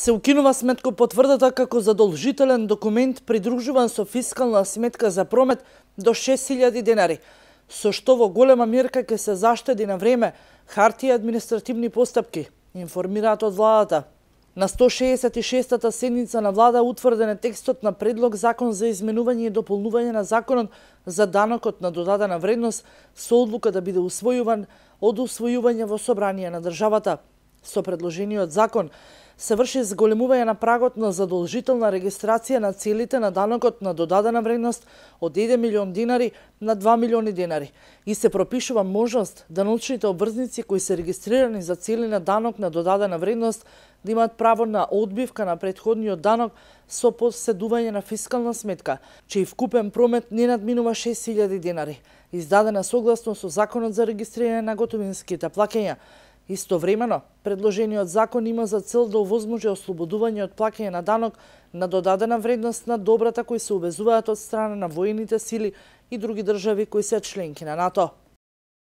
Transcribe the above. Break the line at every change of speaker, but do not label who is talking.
Се укинува сметко потврдата како задолжителен документ придружуван со фискална сметка за промет до 6.000 денари, со што во голема мерка ќе се заштеди на време, хартија и административни постапки, информираат од владата. На 166-та седница на влада утврден е текстот на предлог закон за изменување и дополнување на законот за данокот на додадена вредност со одлука да биде усвојуван од усвојување во собрание на државата. Со предложениот закон се врши зголемување на прагот на задолжителна регистрација на целите на данокот на додадена вредност од 1 милион денари на 2 милиони денари и се пропишува можност даночните обврзници кои се регистрирани за цели на данок на додадена вредност да имаат право на одбивка на претходниот данок со поседување на фискална сметка, чиј вкупен промет не надминува 6.000 денари, издадена согласно со Законот за регистрирање на готовинските плаќања. Истовремено, предложениот закон има за цел да овозможи ослободување од плаќање на данок на додадена вредност на добрата кои се увезуваат од страна на воените сили и други држави кои се членки на НАТО.